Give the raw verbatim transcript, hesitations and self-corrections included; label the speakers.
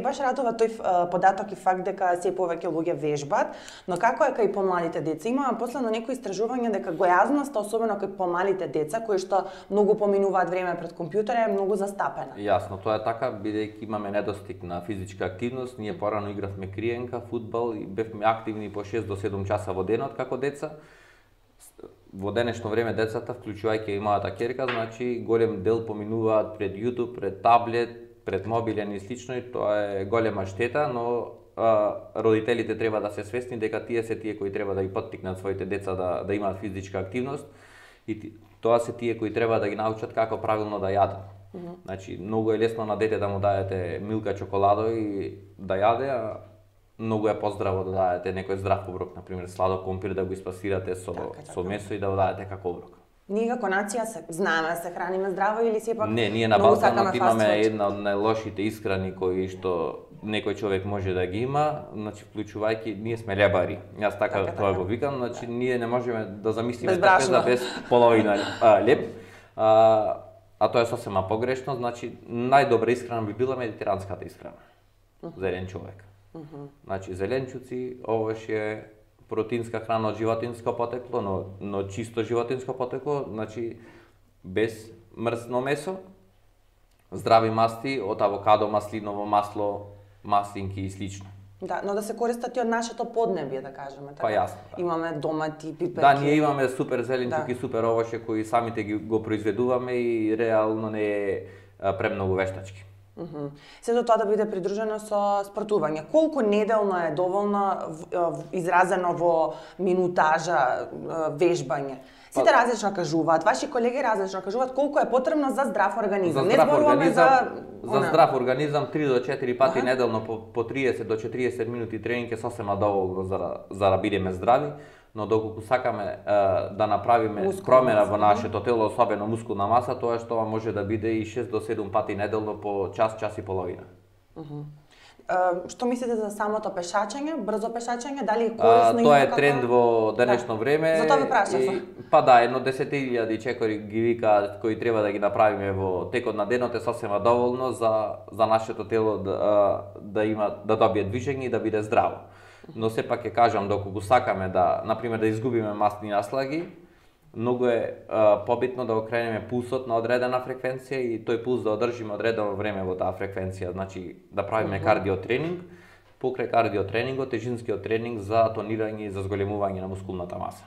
Speaker 1: Баш радува тој податок и факт дека се повеќе луѓе вежбат, но како е кај помалите деца? Има последно некои истражувања дека гојазноста, особено кај помалите деца, кои што многу поминуваат време пред компјутер, е многу застапена.
Speaker 2: Јасно, тоа е така, бидејќи имаме недостиг на физичка активност. Ние порано игравме криенка, фудбал и бевме активни по шест до седум часа во денот како деца. Во денешно време децата, вклучувајќи и мојата ќерка, значи голем дел поминуваат пред YouTube, пред таблет, пред мобилен и слично, и тоа е голема штета, но а, родителите треба да се свесни дека тие се тие кои треба да ги поттикнат своите деца да, да имаат физичка активност и тоа се тие кои треба да ги научат како правилно да јадат. Mm -hmm. Значи, многу е лесно на дете да му дадете милка чоколадо и да јаде, а многу е поздраво да дадете некој здрав оброк, например сладок компир да го испасирате со, така, така. со месо и да го дадете како оброк.
Speaker 1: Ние како нација се знаеме да се храниме здраво или сепак
Speaker 2: не, ние на Балканот имаме една од најлошите исхрани кои што некој човек може да ги има, значи вклучувајќи ние сме лебари. Јас така, така тоа така. Го викам, значи да. Ние не можеме да замислиме трапеза без половина а, леб. А, а тоа е сосема погрешно, значи најдобра исхрана би била медитеранската исхрана за еден човек. Uh -huh. Значи зеленчуци, овошје, протеинска храна од животинско потекло, но, но чисто животинско потекло, значи без мрсно месо, здрави масти од авокадо, маслиново масло, маслинки и слично.
Speaker 1: Да, но да се користат и од нашето поднебје, да кажеме така.
Speaker 2: Па јасно. Да.
Speaker 1: Имаме домати, пиперки.
Speaker 2: Да, ние имаме супер зеленчуки,
Speaker 1: да.
Speaker 2: Супер овошје кои самите ги го произведуваме и реално не е премногу вештачки.
Speaker 1: Uh -huh. Сето тоа да биде придружено со спортување. Колку неделно е доволно изразено во минутажа вежбање? Сите па, различно кажуваат, ваши колеги различно кажуваат колку е потребно за здрав организам.
Speaker 2: За здрав
Speaker 1: Не
Speaker 2: организам,
Speaker 1: за
Speaker 2: за здрав организам три до четири пати ага. неделно по, по триесет до четириесет минути тренинг е сосема доволно за за да бидеме здрави, но доколку сакаме е, да направиме мускулна промена маса, во нашето тело, особено мускулна маса, тоа што може да биде и шест до седум пати неделно по час, час и половина.
Speaker 1: Uh -huh. Uh, што мислите за самото пешачење, брзо пешачење, дали е корисно
Speaker 2: и тоа е тренд во денешно да. време.
Speaker 1: За тоа ви прашав.
Speaker 2: Па да, едно десет илјади чекори ги викаат кои треба да ги направиме во текот на денот е сосема доволно за за нашето тело да да има да добие движење и да биде здраво. Но сепак ќе кажам, доколку сакаме да, например, да изгубиме масни наслаги, многу е а, побитно да окренеме пулсот на одредена фреквенција и тој пулс да одржиме одредено време во таа фреквенција, значи да правиме uh -huh. кардиотренинг, покрај кардиотренингот, тежинскиот тренинг за тонирање и за зголемување на мускулната маса.